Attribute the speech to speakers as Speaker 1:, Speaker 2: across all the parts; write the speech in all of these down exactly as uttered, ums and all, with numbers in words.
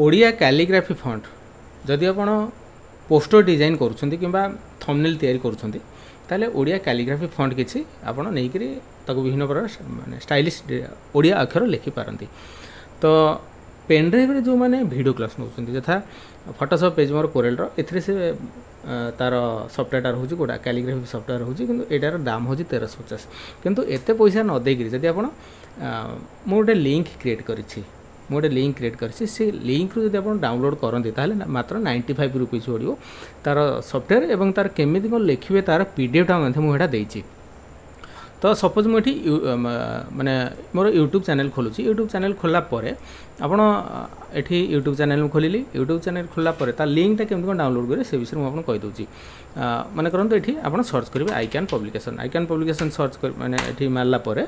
Speaker 1: Odia calligraphy font ଯଦି ଆପଣ poster design କରୁଛନ୍ତି କିମ୍ବା ଥମ୍ବନେଲ୍ ତିଆରି କରୁଛନ୍ତି ତାହେଲେ ଓଡ଼ିଆ କ୍ୟାଲିଗ୍ରାଫି ଫଣ୍ଟ କିଛି ଆପଣ ନେଇକରି ତାକୁ ବିଭିନ୍ନ ପ୍ରକାର ମାନେ ଷ୍ଟାଇଲିଶ ଓଡ଼ିଆ ଅକ୍ଷର ଲେଖିପାରନ୍ତି ତ ପେନ୍ ଡ୍ରାଇଭ୍ରେ ଯେଉଁମାନେ ଭିଡ଼ିଓ କ୍ଲାସ୍ ନେଉଛନ୍ତି ଯଥା ଫଟୋସପ୍ ପେଜ୍ ମୋର କୋରେଲ୍ର ଏଥିରେ ସେ ତା'ର ସଫ୍ଟୱେର୍ଟା ରହୁଛି କେଉଁଟା କ୍ୟାଲିଗ୍ରାଫି ସଫ୍ଟୱେର୍ ରହୁଛି କିନ୍ତୁ ଏଇଟାର ଦାମ ହେଉଛି ତେରଶହ ପଚାଶ କିନ୍ତୁ ଏତେ ପଇସା ନ ଦେଇକରି ଯଦି ଆପଣ ମୁଁ ଗୋଟେ ଲିଙ୍କ୍ କ୍ରିଏଟ୍ କରିଛି ମୁଁ ଗୋଟେ ଲିଙ୍କ୍ କ୍ରିଏଟ୍ କରିଛି ସେ ଲିଙ୍କ୍ରୁ ଯଦି ଆପଣ ଡାଉନଲୋଡ଼୍ କରନ୍ତି ତାହେଲେ ମାତ୍ର ନାଇଣ୍ଟି ଫାଇଭ୍ ରୁପିଜ୍ ପଡ଼ିବ ତା'ର ସଫ୍ଟୱେର୍ ଏବଂ ତା'ର କେମିତି କ'ଣ ଲେଖିବେ ତା'ର ପି ଡି ଏଫ୍ଟା ମଧ୍ୟ ମୁଁ ଏଇଟା ଦେଇଛି ତ ସପୋଜ୍ ମୁଁ ଏଠି ମାନେ ମୋର ୟୁଟ୍ୟୁବ୍ ଚ୍ୟାନେଲ୍ ଖୋଲୁଛି ୟୁଟ୍ୟୁବ୍ ଚ୍ୟାନେଲ୍ ଖୋଲିଲା ପରେ ଆପଣ ଏଠି ୟୁଟ୍ୟୁବ୍ ଚ୍ୟାନେଲ୍ ମୁଁ ଖୋଲିଲି ୟୁଟ୍ୟୁବ୍ ଚ୍ୟାନେଲ୍ ଖୋଲିଲା ପରେ ତା ଲିଙ୍କ୍ଟା କେମିତି କ'ଣ ଡାଉନଲୋଡ଼୍ କରିବେ ସେ ବିଷୟରେ ମୁଁ ଆପଣଙ୍କୁ କହିଦେଉଛି ମନେ କରନ୍ତୁ ଏଠି ଆପଣ ସର୍ଚ୍ଚ କରିବେ ଆଇକ୍ୟାନ୍ ପବ୍ଲିକେସନ୍ ଆଇକ୍ୟାନ୍ ପବ୍ଲିକେସନ୍ ସର୍ଚ୍ଚ କରି ମାନେ ଏଠି ମାରିଲା ପରେ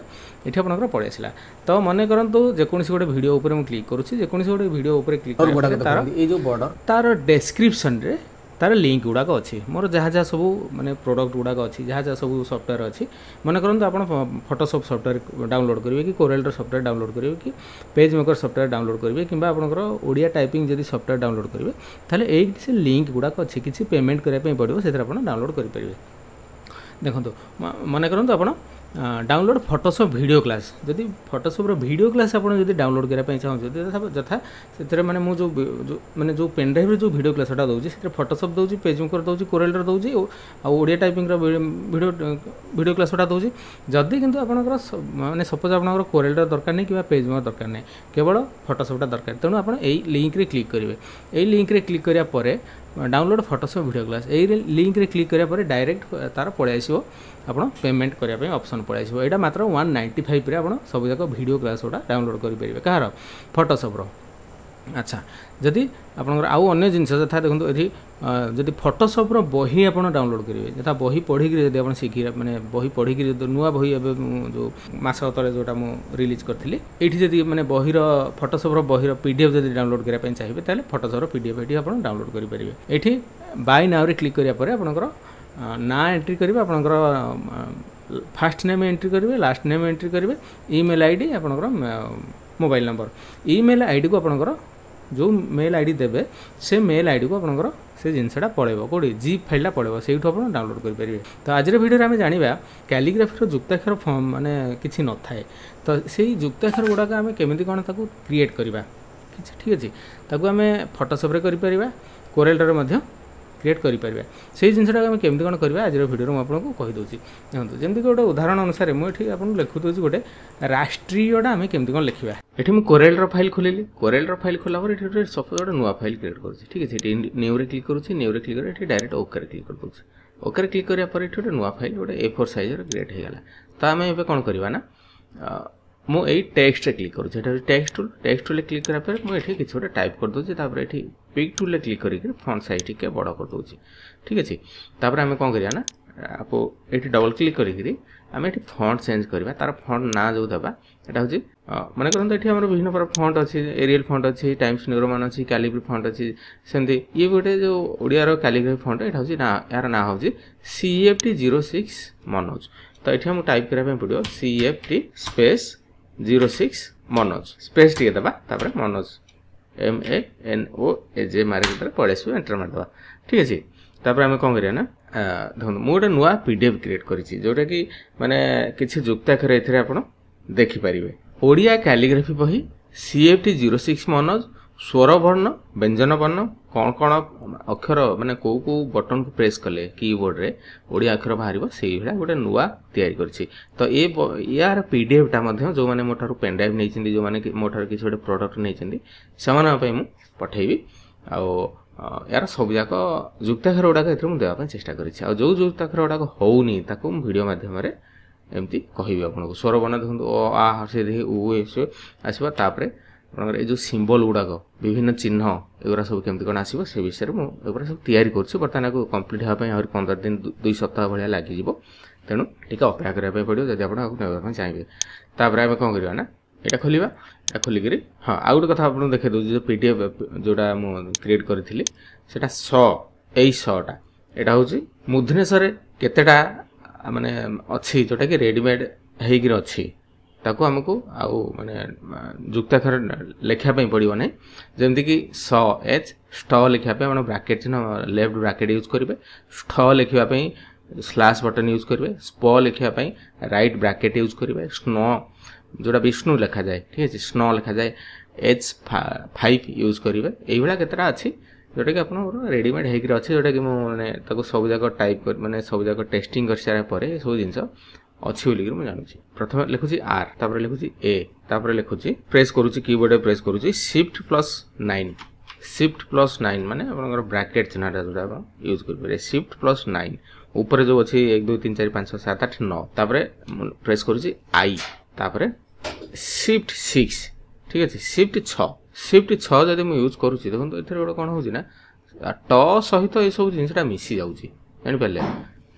Speaker 1: ଏଠି ଆପଣଙ୍କର ପଳେଇ ଆସିଲା ତ ମନେ କରନ୍ତୁ ଯେକୌଣସି ଗୋଟେ ଭିଡ଼ିଓ ଉପରେ ମୁଁ କ୍ଲିକ୍ କରୁଛି ଯେକୌଣସି ଗୋଟେ ଭିଡ଼ିଓ ଉପରେ କ୍ଲିକ୍
Speaker 2: ଗୁଡ଼ାକ
Speaker 1: ତାର
Speaker 2: ଦେଖନ୍ତୁ ଏଇ ଯୋଉ ବର୍ଡର
Speaker 1: ତାର ଡେସ୍କ୍ରିପସନ୍ରେ ତାର ଲିଙ୍କ୍ ଗୁଡ଼ାକ ଅଛି ମୋର ଯାହା ଯାହା ସବୁ ମାନେ ପ୍ରଡ଼କ୍ଟ ଗୁଡ଼ାକ ଅଛି ଯାହା ଯାହା ସବୁ ସଫ୍ଟୱେର୍ ଅଛି ମନେ କରନ୍ତୁ ଆପଣ ଫଟୋସପ୍ ସଫ୍ଟୱେର୍ ଡାଉନଲୋଡ଼୍ କରିବେ କି କୋରେଲ୍ର ସଫ୍ଟୱେର୍ ଡାଉନଲୋଡ଼୍ କରିବେ କି ପେଜ୍ ମେକର୍ ସଫ୍ଟୱେର୍ ଡାଉନଲୋଡ଼୍ କରିବେ କିମ୍ବା ଆପଣଙ୍କର ଓଡ଼ିଆ ଟାଇପିଂ ଯଦି ସଫ୍ଟୱେର୍ ଡାଉନଲୋଡ଼୍ କରିବେ ତାହେଲେ ଏଇ ସେ ଲିଙ୍କ୍ ଗୁଡ଼ାକ ଅଛି କିଛି ପେମେଣ୍ଟ କରିବା ପାଇଁ ପଡ଼ିବ ସେଥିରେ ଆପଣ ଡାଉନଲୋଡ଼୍ କରିପାରିବେ ଦେଖନ୍ତୁ ମନେ କରନ୍ତୁ ଆପଣ ଡାଉନଲୋଡ଼୍ ଫଟୋସପ୍ ଭିଡ଼ିଓ କ୍ଲାସ୍ ଯଦି ଫଟୋସପ୍ର ଭିଡ଼ିଓ କ୍ଲାସ୍ ଆପଣ ଯଦି ଡାଉନଲୋଡ଼୍ କରିବା ପାଇଁ ଚାହୁଁଛନ୍ତି ଯଥା ଯଥା ସେଥିରେ ମାନେ ମୁଁ ଯେଉଁ ଯେଉଁ ମାନେ ଯେଉଁ ପେନ୍ ଡ୍ରାଇଭ୍ରେ ଯେଉଁ ଭିଡ଼ିଓ କ୍ଲାସ୍ଟା ଦେଉଛି ସେଥିରେ ଫଟୋସପ୍ ଦେଉଛି ପେଜ୍ ମେକର୍ ଦେଉଛି କୋରେଲ୍ର ଦେଉଛି ଆଉ ଓଡ଼ିଆ ଟାଇପିଂର ଭିଡ଼ିଓ ଭିଡ଼ିଓ କ୍ଲାସ୍ ଗୁଡ଼ା ଦେଉଛି ଯଦି କିନ୍ତୁ ଆପଣଙ୍କର ମାନେ ସପୋଜ୍ ଆପଣଙ୍କର କୋରେଲ୍ର ଦରକାର ନାହିଁ କିମ୍ବା ପେଜ୍ ମେକର୍ ଦରକାର ନାହିଁ କେବଳ ଫଟୋସପ୍ଟା ଦରକାର ତେଣୁ ଆପଣ ଏଇ ଲିଙ୍କ୍ରେ କ୍ଲିକ୍ କରିବେ ଏଇ ଲିଙ୍କ୍ରେ କ୍ଲିକ୍ କରିବା ପରେ ଡାଉନଲୋଡ଼୍ ଫଟୋସପ୍ ଭିଡ଼ିଓ କ୍ଲାସ୍ ଏଇ ଲିଙ୍କ୍ରେ କ୍ଲିକ୍ କରିବା ପରେ ଡାଇରେକ୍ଟ ତା'ର ପଳେଇ ଆସିବ ଆପଣ ପେମେଣ୍ଟ କରିବା ପାଇଁ ଅପସନ୍ ପଳେଇ ଆସିବ ଏଇଟା ମାତ୍ର ୱାନ୍ ନାଇଣ୍ଟି ଫାଇଭ୍ରେ ଆପଣ ସବୁଯାକ ଭିଡ଼ିଓ କ୍ଲାସ୍ ଗୁଡ଼ା ଡାଉନଲୋଡ଼୍ କରିପାରିବେ କାହାର ଫଟୋସପ୍ର ଆଚ୍ଛା ଯଦି ଆପଣଙ୍କର ଆଉ ଅନ୍ୟ ଜିନିଷ ଯଥା ଦେଖନ୍ତୁ ଏଠି ଯଦି ଫଟୋସପ୍ର ବହି ଆପଣ ଡାଉନଲୋଡ଼୍ କରିବେ ଯଥା ବହି ପଢ଼ିକିରି ଯଦି ଆପଣ ଶିଖି ମାନେ ବହି ପଢ଼ିକିରି ଯଦି ନୂଆ ବହି ଏବେ ମୁଁ ଯେଉଁ ମାସ ତଳେ ଯେଉଁଟା ମୁଁ ରିଲିଜ୍ କରିଥିଲି ଏଇଠି ଯଦି ମାନେ ବହିର ଫଟୋସପ୍ର ବହିର ପି ଡି ଏଫ୍ ଯଦି ଡାଉନଲୋଡ଼୍ କରିବା ପାଇଁ ଚାହିଁବେ ତାହେଲେ ଫଟୋସପ୍ର ପି ଡି ଏଫ୍ ଏଠି ଆପଣ ଡାଉନଲୋଡ଼୍ କରିପାରିବେ ଏଠି ବାଇ ନାଉରେ କ୍ଲିକ୍ କରିବା ପରେ ଆପଣଙ୍କର ନାଁ ଏଣ୍ଟ୍ରି କରିବେ ଆପଣଙ୍କର ଫାର୍ଷ୍ଟ ନେମ୍ ଏଣ୍ଟ୍ରି କରିବେ ଲାଷ୍ଟ ନେମ୍ ଏଣ୍ଟ୍ରି କରିବେ ଇମେଲ୍ I D ଆପଣଙ୍କର ମୋବାଇଲ୍ ନମ୍ବର ଇମେଲ୍ ଆଇଡ଼ିକୁ ଆପଣଙ୍କର ଯେଉଁ ମେଲ୍ I D ଦେବେ ସେ ମେଲ୍ ଆଇଡ଼ିକୁ ଆପଣଙ୍କର ସେ ଜିନିଷଟା ପଳେଇବ କେଉଁଠି ଜିପ୍ ଫାଇଲ୍ଟା ପଳେଇବ ସେଇଠୁ ଆପଣ ଡାଉନଲୋଡ଼୍ କରିପାରିବେ ତ ଆଜିର ଭିଡ଼ିଓରେ ଆମେ ଜାଣିବା କ୍ୟାଲିଗ୍ରାଫିର ଯୁକ୍ତାକ୍ଷର ମାନେ କିଛି ନଥାଏ ତ ସେଇ ଯୁକ୍ତାକ୍ଷର ଗୁଡ଼ାକ ଆମେ କେମିତି କ'ଣ ତାକୁ କ୍ରିଏଟ୍ କରିବା କିଛି ଠିକ୍ ଅଛି ତାକୁ ଆମେ ଫଟୋସପ୍ରେ କରିପାରିବା କୋରେଲ୍ରେ ମଧ୍ୟ କ୍ରିଏଟ୍ କରିପାରିବା ସେଇ ଜିନିଷଟାକୁ ଆମେ କେମିତି କ'ଣ କରିବା ଆଜିର ଭିଡ଼ିଓରେ ମୁଁ ଆପଣଙ୍କୁ କହିଦେଉଛି ଦେଖନ୍ତୁ ଯେମିତିକି ଗୋଟେ ଉଦାହରଣ ଅନୁସାରେ ମୁଁ ଏଠି ଆପଣଙ୍କୁ ଲେଖୁଦେଉଛି ଗୋଟେ ରାଷ୍ଟ୍ରୀୟଟା ଆମେ କେମିତି କ'ଣ ଲେଖିବା ଏଠି ମୁଁ କୋରେଲ୍ର ଫାଇଲ୍ ଖୋଲିଲି କୋରେଲ୍ର ଫାଇଲ୍ ଖୋଲିଲା ପରେ ଏଠି ଗୋଟେ ସପୋଜ୍ ଗୋଟେ ନୂଆ ଫାଇଲ୍ କ୍ରିଏଟ୍ କରୁଛି ଠିକ୍ ଅଛି ଏଠି ନ୍ୟୁରେ କ୍ଲିକ୍ କରୁଛି ନ୍ୟୁରେ କ୍ଲିକ୍ କରି ଏଠି ଡାଇରେକ୍ଟ ଓକେରେ କ୍ଲିକ୍ କରିଦେଉଛି ଓକେରେ କ୍ଲିକ୍ କରିବା ପରେ ଏଠି ଗୋଟେ ନୂଆ ଫାଇଲ୍ ଗୋଟେ ଏ ଫୋର୍ ସାଇଜ୍ର କ୍ରିଏଟ୍ ହେଇଗଲା ତ ଆମେ ଏବେ କ'ଣ କରିବା ନା ମୁଁ ଏଇ ଟେକ୍ସଟରେ କ୍ଲିକ୍ କରୁଛି ଏଠି ହେଉଛି ଟେକ୍ସଟ ଟୁଲ୍ ଟେକ୍ସଟ ଟୁଲ୍ରେ କ୍ଲିକ୍ କରିବା ପରେ ମୁଁ ଏଠି କିଛି ଗୋଟେ ଟାଇପ୍ କରିଦେଉଛି ତାପରେ ଏଠି ପିକ୍ ଟୁଲ୍ରେ କ୍ଲିକ୍ କରିକି ଫଣ୍ଟ ସାଇଜ୍ ଟିକେ ବଡ଼ କରିଦେଉଛି ଠିକ୍ ଅଛି ତାପରେ ଆମେ କ'ଣ କରିବା ନା ଆକୁ ଏଠି ଡବଲ୍ କ୍ଲିକ୍ କରିକିରି ଆମେ ଏଠି ଫଣ୍ଟ ଚେଞ୍ଜ କରିବା ତାର ଫଣ୍ଟ ନାଁ ଯେଉଁ ଦେବା ଏଇଟା ହେଉଛି ମନେ କରନ୍ତୁ ଏଠି ଆମର ବିଭିନ୍ନ ପ୍ରକାର ଫଣ୍ଟ ଅଛି ଏରିଏଲ୍ ଫଣ୍ଟ ଅଛି ଟାଇମ୍ସ ନ୍ୟୁ ରୋମାନ ଅଛି କାଲିବ୍ରି ଫଣ୍ଟ ଅଛି ସେମିତି ଇଏ ଗୋଟେ ଯେଉଁ ଓଡ଼ିଆର କାଲିଗ୍ରାଫି ଫଣ୍ଟ ଏଇଟା ହେଉଛି ନା ଏହାର ନାଁ ହେଉଛି C F T zero six Manoj ତ ଏଠି ଆମକୁ ଟାଇପ୍ କରିବା ପାଇଁ ପଡ଼ିବ C F T space zero six Manoj space ଟିକେ ଦେବା ତାପରେ Manoj M A N O A ଜେ ମାରିକି ଦେଲେ ପଳେଇ ଆସିବ ଏଣ୍ଟର ମାରିଦେବା ଠିକ୍ ଅଛି ତାପରେ ଆମେ କ'ଣ କରିବା ନା ଦେଖନ୍ତୁ ମୁଁ ଗୋଟେ ନୂଆ ପି ଡି ଏଫ୍ କ୍ରିଏଟ୍ କରିଛି ଯେଉଁଟାକି ମାନେ କିଛି ଯୁକ୍ତାକ୍ଷର ଏଥିରେ ଆପଣ ଦେଖିପାରିବେ ଓଡ଼ିଆ କ୍ୟାଲିଗ୍ରାଫି ବହି C F T zero six Manoj ସ୍ୱରବର୍ଣ୍ଣ ବ୍ୟଞ୍ଜନ ବର୍ଣ୍ଣ କ'ଣ କ'ଣ ଅକ୍ଷର ମାନେ କେଉଁ କେଉଁ ବଟନ୍କୁ ପ୍ରେସ୍ କଲେ କିବୋର୍ଡ଼ରେ ଓଡ଼ିଆ ଅକ୍ଷର ବାହାରିବ ସେଇଭଳିଆ ଗୋଟେ ନୂଆ ତିଆରି କରିଛି ତ ଏ ୟାର ପି ଡି ଏଫ୍ଟା ମଧ୍ୟ ଯେଉଁମାନେ ମୋ ଠାରୁ ପେନ୍ଡ୍ରାଇଭ୍ ନେଇଛନ୍ତି ଯେଉଁମାନେ ମୋ ଠାରୁ କିଛି ଗୋଟେ ପ୍ରଡ଼କ୍ଟ ନେଇଛନ୍ତି ସେମାନଙ୍କ ପାଇଁ ମୁଁ ପଠେଇବି ଆଉ ଏହାର ସବୁଯାକ ଯୁକ୍ତାକ୍ଷର ଗୁଡ଼ାକ ଏଥିରେ ମୁଁ ଦେବା ପାଇଁ ଚେଷ୍ଟା କରିଛି ଆଉ ଯେଉଁ ଯୁକ୍ତାକ୍ଷର ଗୁଡ଼ାକ ହେଉନି ତାକୁ ମୁଁ ଭିଡ଼ିଓ ମାଧ୍ୟମରେ ଏମିତି କହିବି ଆପଣଙ୍କୁ ସ୍ୱରବର୍ଣ୍ଣ ଦେଖନ୍ତୁ ଅ ଆ ସେ ଉ ଏ ସେ ଆସିବ ତାପରେ ଆପଣଙ୍କର ଏଇ ଯେଉଁ ସିମ୍ବଲ୍ ଗୁଡ଼ାକ ବିଭିନ୍ନ ଚିହ୍ନ ଏଗୁଡ଼ା ସବୁ କେମିତି କ'ଣ ଆସିବ ସେ ବିଷୟରେ ମୁଁ ଏଗୁଡ଼ା ସବୁ ତିଆରି କରୁଛି ବର୍ତ୍ତମାନ ଆକୁ କମ୍ପ୍ଲିଟ୍ ହେବା ପାଇଁ ଆହୁରି ପନ୍ଦର ଦିନ ଦୁଇ ସପ୍ତାହ ଭଳିଆ ଲାଗିଯିବ ତେଣୁ ଟିକେ ଅପେକ୍ଷା କରିବା ପାଇଁ ପଡ଼ିବ ଯଦି ଆପଣ ଆକୁ ନେବା ପାଇଁ ଚାହିଁବେ ତାପରେ ଆମେ କ'ଣ କରିବା ନା ଏଇଟା ଖୋଲିବା ଏଇଟା ଖୋଲିକିରି ହଁ ଆଉ ଗୋଟେ କଥା ଆପଣଙ୍କୁ ଦେଖାଇ ଦେଉଛି ଯେଉଁ ପି ଡି ଏଫ୍ ଯେଉଁଟା ମୁଁ କ୍ରିଏଟ୍ କରିଥିଲି ସେଇଟା ସ ଏଇ ସଟା ଏଇଟା ହେଉଛି ମୂର୍ଦ୍ଧନ୍ୟ ସ ରେ କେତେଟା ମାନେ ଅଛି ଯେଉଁଟାକି ରେଡ଼ିମେଡ଼୍ ହେଇକିରି ଅଛି ତାକୁ ଆମକୁ ଆଉ ମାନେ ଯୁକ୍ତାକ୍ଷର ଲେଖିବା ପାଇଁ ପଡ଼ିବ ନାହିଁ। ଯେମିତିକି ସ ଏଚ୍ ଷ୍ଟ ଲେଖିବା ପାଇଁ ଆପଣ ବ୍ରାକେଟ୍ ଚିହ୍ନ ଲେଫ୍ଟ ବ୍ରାକେଟ୍ ୟୁଜ୍ କରିବେ, ଷ୍ଠ ଲେଖିବା ପାଇଁ ସ୍ଲାସ୍ ବଟନ୍ ୟୁଜ୍ କରିବେ, ସ୍ପ ଲେଖିବା ପାଇଁ ରାଇଟ୍ ବ୍ରାକେଟ୍ ୟୁଜ୍ କରିବେ, ସ୍ନ ଯେଉଁଟା ବିଷ୍ଣୁ ଲେଖାଯାଏ, ଠିକ୍ ଅଛି, ସ୍ନ ଲେଖାଯାଏ ଏଚ୍ ଫାଇଭ୍ ୟୁଜ୍ କରିବେ। ଏଇଭଳିଆ କେତେଟା ଅଛି ଯେଉଁଟାକି ଆପଣଙ୍କର ରେଡ଼ିମେଡ଼୍ ହେଇକିରି ଅଛି, ଯେଉଁଟାକି ମୁଁ ମାନେ ତାକୁ ସବୁଯାକ ଟାଇପ୍ କରି ମାନେ ସବୁଯାକ ଟେଷ୍ଟିଂ କରିସାରିଲା ପରେ ଏସବୁ ଜିନିଷ ଅଛି ବୋଲିକିରି ମୁଁ ଜାଣୁଛି। ପ୍ରଥମେ ଲେଖୁଛି ଆର୍, ତାପରେ ଲେଖୁଛି ଏ, ତାପରେ ଲେଖୁଛି ପ୍ରେସ୍ କରୁଛି କିବୋର୍ଡ଼ରେ ପ୍ରେସ୍ କରୁଛି shift plus nine. Shift plus nine ମାନେ ଆପଣଙ୍କର ବ୍ରାକେଟ୍ ଚିହ୍ନଟା ଯେଉଁଟା ଆପଣ ୟୁଜ୍ କରିପାରିବେ, ସିଫ୍ଟ ପ୍ଲସ୍ ନାଇନ୍ ଉପରେ ଯେଉଁ ଅଛି ଏକ ଦୁଇ ତିନି ଚାରି ପାଞ୍ଚ ଛଅ ସାତ ଆଠ ନଅ, ତାପରେ ମୁଁ ପ୍ରେସ୍ କରୁଛି I, ତାପରେ ସିଫ୍ଟ ସିକ୍ସ, ଠିକ୍ ଅଛି, ସିଫ୍ଟ ଛଅ। ସିଫ୍ଟ ଛଅ ଯଦି ମୁଁ ୟୁଜ୍ କରୁଛି, ଦେଖନ୍ତୁ ଏଥିରେ ଗୋଟେ କ'ଣ ହେଉଛି ନା ଟ ସହିତ ଏସବୁ ଜିନିଷଟା ମିଶି ଯାଉଛି, ଜାଣିପାରିଲେ,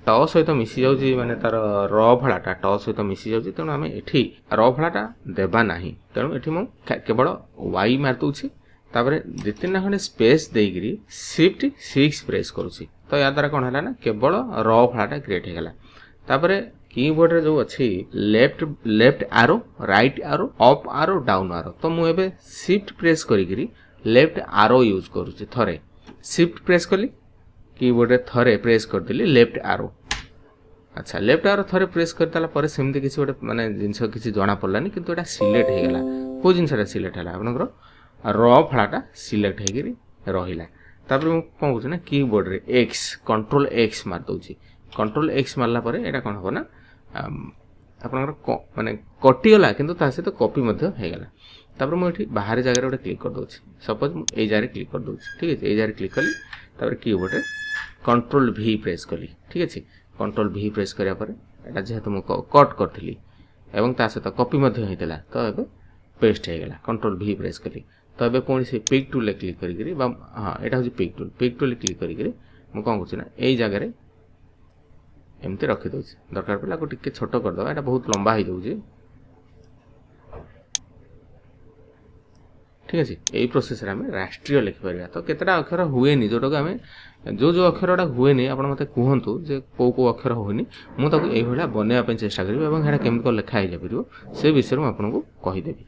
Speaker 1: ଟ ସହିତ ମିଶି ଯାଉଛି ମାନେ ତାର ର ଫଳାଟା ଟ ସହିତ ମିଶି ଯାଉଛି, ତେଣୁ ଆମେ ଏଠି ର ଫଳାଟା ଦେବା ନାହିଁ। ତେଣୁ ଏଠି ମୁଁ କେବଳ ୱାଇ ମାରିଦେଉଛି, ତାପରେ ଦୁଇ ତିନିଟା ଖଣ୍ଡେ ସ୍ପେସ୍ ଦେଇକିରି ସିଫ୍ଟ ସିକ୍ସ ପ୍ରେସ୍ କରୁଛି। ତ ୟା ଦ୍ୱାରା କ'ଣ ହେଲା ନା କେବଳ ର ଫଳାଟା କ୍ରିଏଟ୍ ହେଇଗଲା। ତାପରେ କିବୋର୍ଡ଼ରେ ଯେଉଁ ଅଛି left left arrow, right arrow, up arrow, down arrow, ତ ମୁଁ ଏବେ ସିଫ୍ଟ ପ୍ରେସ୍ କରିକିରି ଲେଫ୍ଟ ଆରୋ ୟୁଜ୍ କରୁଛି। ଥରେ ସିଫ୍ଟ ପ୍ରେସ୍ କଲି, କିବୋର୍ଡ଼ରେ ଥରେ ପ୍ରେସ୍ କରିଦେଲି ଲେଫ୍ଟ ଆରୋ। ଆଚ୍ଛା, ଲେଫ୍ଟ ଆରୋ ଥରେ ପ୍ରେସ୍ କରିଦେଲା ପରେ ସେମିତି କିଛି ଗୋଟେ ମାନେ ଜିନିଷ କିଛି ଜଣାପଡ଼ିଲାନି, କିନ୍ତୁ ଏଇଟା ସିଲେକ୍ଟ ହେଇଗଲା। କେଉଁ ଜିନିଷଟା ସିଲେକ୍ଟ ହେଲା? ଆପଣଙ୍କର ର ଫଳାଟା ସିଲେକ୍ଟ ହେଇକିରି ରହିଲା। ତାପରେ ମୁଁ କ'ଣ କରୁଛି ନା କିବୋର୍ଡ଼ରେ ଏକ୍ସ କଣ୍ଟ୍ରୋଲ ଏକ୍ସ ମାରିଦେଉଛି। କଣ୍ଟ୍ରୋଲ ଏକ୍ସ ମାରିଲା ପରେ ଏଇଟା କ'ଣ ହେବ ନା ଆପଣଙ୍କର ମାନେ କଟିଗଲା, କିନ୍ତୁ ତା ସହିତ କପି ମଧ୍ୟ ହେଇଗଲା। ତାପରେ ମୁଁ ଏଠି ବାହାରେ ଜାଗାରେ ଗୋଟେ କ୍ଲିକ୍ କରିଦେଉଛି, ସପୋଜ୍ ମୁଁ ଏଇ ଜାଗାରେ କ୍ଲିକ୍ କରିଦେଉଛି, ଠିକ୍ ଅଛି, ଏଇ ଜାଗାରେ କ୍ଲିକ୍ କଲି, ତାପରେ କିବୋର୍ଡ଼ରେ କଣ୍ଟ୍ରୋଲ ଭି ପ୍ରେସ୍ କଲି, ଠିକ୍ ଅଛି। କଣ୍ଟ୍ରୋଲ ଭି ପ୍ରେସ୍ କରିବା ପରେ ଏଇଟା ଯେହେତୁ ମୁଁ କଟ୍ କରିଥିଲି ଏବଂ ତା ସହିତ କପି ମଧ୍ୟ ହେଇଥିଲା, ତ ଏବେ ପେଷ୍ଟ ହେଇଗଲା। କଣ୍ଟ୍ରୋଲ ଭି ପ୍ରେସ୍ କଲି, ତ ଏବେ ପୁଣି ସେ ପିକ୍ ଟୁଲ୍ରେ କ୍ଲିକ୍ କରିକିରି ବା ହଁ ଏଇଟା ହେଉଛି ପିକ୍ ଟୁଲ୍, ପିକ୍ ଟୁଲ୍ରେ କ୍ଲିକ୍ କରିକିରି ମୁଁ କ'ଣ କରୁଛି ନା ଏଇ ଜାଗାରେ ଏମିତି ରଖିଦେଉଛି। ଦରକାର ପଡ଼ିଲେ ଆକୁ ଟିକେ ଛୋଟ କରିଦେବା, ଏଇଟା ବହୁତ ଲମ୍ବା ହେଇଯାଉଛି, ଠିକ୍ ଅଛି। ଏଇ ପ୍ରୋସେସ୍ରେ ଆମେ ରାଷ୍ଟ୍ରୀୟ ଲେଖିପାରିବା। ତ କେତେଟା ଅକ୍ଷର ହୁଏନି, ଯେଉଁଟାକୁ ଆମେ ଯେଉଁ ଯେଉଁ ଅକ୍ଷରଟା ହୁଏନି ଆପଣ ମୋତେ କୁହନ୍ତୁ ଯେ କେଉଁ କେଉଁ ଅକ୍ଷର ହୁଏନି, ମୁଁ ତାକୁ ଏଇଭଳିଆ ବନେଇବା ପାଇଁ ଚେଷ୍ଟା କରିବି ଏବଂ ସେଇଟା କେମିତି କ'ଣ ଲେଖା ହେଇଯାଇପାରିବ ସେ ବିଷୟରେ ମୁଁ ଆପଣଙ୍କୁ କହିଦେବି।